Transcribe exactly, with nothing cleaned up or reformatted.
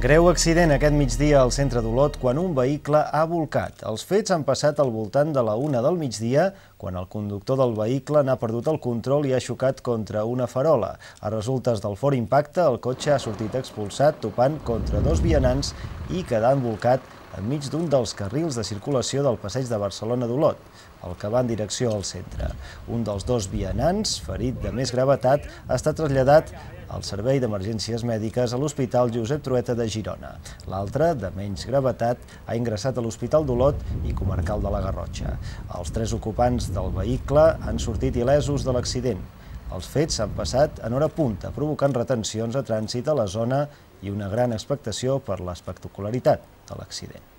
Greu accident aquest migdia al centre d'Olot quan un vehicle ha bolcat. Els fets han passat al voltant de la una del migdia, quan el conductor del vehicle n'ha perdut el control i ha xocat contra una farola. A resultes del fort impacte, el cotxe ha sortit expulsat, topant contra dos vianants i quedant bolcat enmig d'un dels carrils de circulació del passeig de Barcelona d'Olot, el que va en direcció al centre. Un dels dos vianants, ferit de més gravetat, ha estat traslladat al Servei d'Emergències Mèdiques a l'Hospital Josep Trueta de Girona. L'altre, de menys gravetat, ha ingressat a l'Hospital d'Olot i Comarcal de la Garrotxa. Els tres ocupants del vehicle han sortit il·lesos de l'accident. Els fets s'han passat en hora punta, provocant retencions a trànsit a la zona i una gran expectació per l'espectacularitat de l'accident.